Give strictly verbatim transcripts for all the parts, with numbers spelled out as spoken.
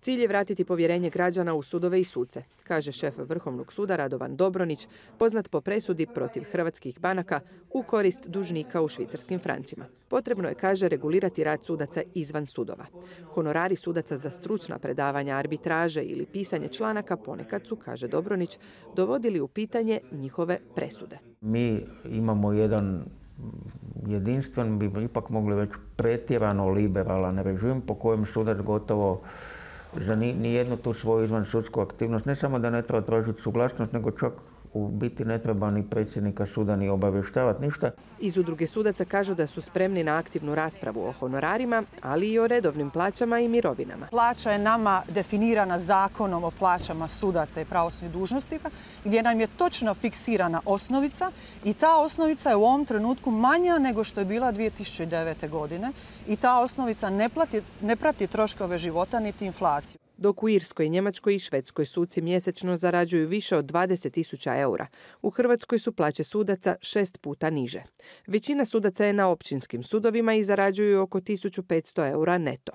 Cilj je vratiti povjerenje građana u sudove i suce, kaže šef Vrhovnog suda Radovan Dobronić, poznat po presudi protiv hrvatskih banaka u korist dužnika u švicarskim francima. Potrebno je, kaže, regulirati rad sudaca izvan sudova. Honorari sudaca za stručna predavanja, arbitraže ili pisanje članaka ponekad su, kaže Dobronić, dovodili u pitanje njihove presude. Mi imamo jedan jedinstven, bi ipak mogli već pretjerano liberalan režim po kojem sudac gotovo za nijednu tu svoju izvansudsku aktivnost, ne samo da ne treba tražiti suglasnost, nego čak u biti ne treba ni predsjednika suda ni obavještavati ništa. Iz udruge sudaca kažu da su spremni na aktivnu raspravu o honorarima, ali i o redovnim plaćama i mirovinama. Plaća je nama definirana zakonom o plaćama sudaca i pravosudnih dužnosnika, gdje nam je točno fiksirana osnovica i ta osnovica je u ovom trenutku manja nego što je bila dvije tisuće devete. godine i ta osnovica ne, plati, ne prati troškove života niti inflaciju. Dok u Irskoj, Njemačkoj i Švedskoj suci mjesečno zarađuju više od dvadeset tisuća eura, u Hrvatskoj su plaće sudaca šest puta niže. Većina sudaca je na općinskim sudovima i zarađuju oko tisuću petsto eura neto.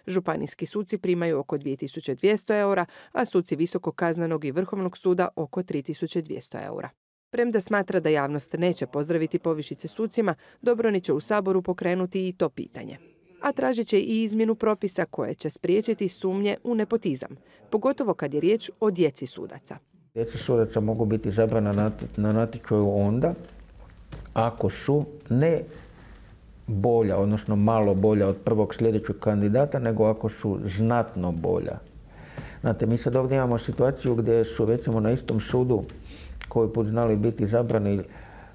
Županijski suci primaju oko dvije tisuće dvjesto eura, a suci Visokog kaznenog i Vrhovnog suda oko tri tisuće dvjesto eura. Premda smatra da javnost neće pozdraviti povišice sucima, Dobronić će u Saboru pokrenuti i to pitanje. A tražit će i izmjenu propisa koje će spriječiti sumnje u nepotizam, pogotovo kad je riječ o djeci sudaca. Djeca sudaca mogu biti izabrana na natječaju onda ako su ne bolja, odnosno malo bolja od prvog sljedećeg kandidata, nego ako su znatno bolja. Znate, mi sad ovdje imamo situaciju gdje su recimo na istom sudu koji put znali biti izabrani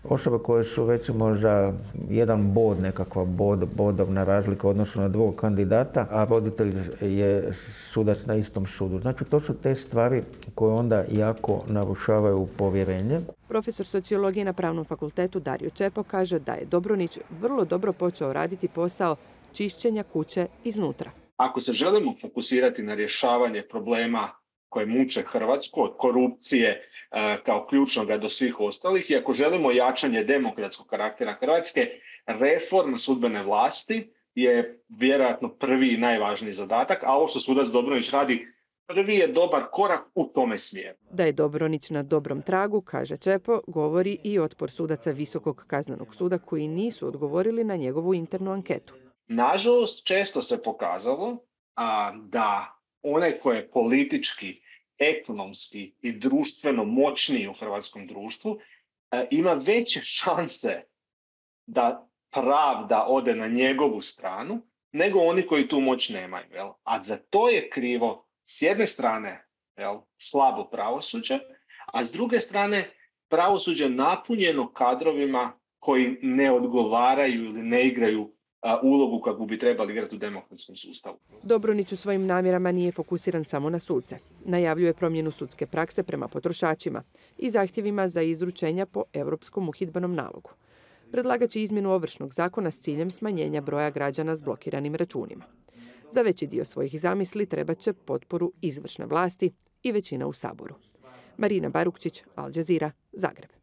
osobe koje su recimo za jedan bod, nekakva bod, bodovna razlika u odnosu na drugog kandidata, a roditelj je sudac na istom sudu. Znači, to su te stvari koje onda jako narušavaju povjerenje. Profesor sociologije na Pravnom fakultetu Dario Čepo kaže da je Dobronić vrlo dobro počeo raditi posao čišćenja kuće iznutra. Ako se želimo fokusirati na rješavanje problema koje muče Hrvatsku, od korupcije e, kao ključnoga do svih ostalih, i ako želimo jačanje demokratskog karaktera Hrvatske, reforma sudbene vlasti je vjerojatno prvi i najvažniji zadatak, a ovo što sudac Dobronić radi, prvi je dobar korak u tome smjeru. Da je Dobronić na dobrom tragu, kaže Čepo, govori i otpor sudaca Visokog kaznenog suda koji nisu odgovorili na njegovu internu anketu. Nažalost, često se pokazalo a, da onaj koji je politički, ekonomski i društveno moćniji u hrvatskom društvu e, ima veće šanse da pravda ode na njegovu stranu nego oni koji tu moć nemaju. Jel? A za to je krivo s jedne strane jel, slabo pravosuđe, a s druge strane pravosuđe napunjeno kadrovima koji ne odgovaraju ili ne igraju ulogu kakvu bi trebali igrati u demokratskom sustavu. Dobronić u svojim namjerama nije fokusiran samo na suce. Najavljuje promjenu sudske prakse prema potrošačima i zahtjevima za izručenja po Europskom uhidbenom nalogu. Predlagat će izmjenu Ovršnog zakona s ciljem smanjenja broja građana s blokiranim računima. Za veći dio svojih zamisli trebat će potporu izvršne vlasti i većina u Saboru. Marina Barukčić, Al Jazeera, Zagreb.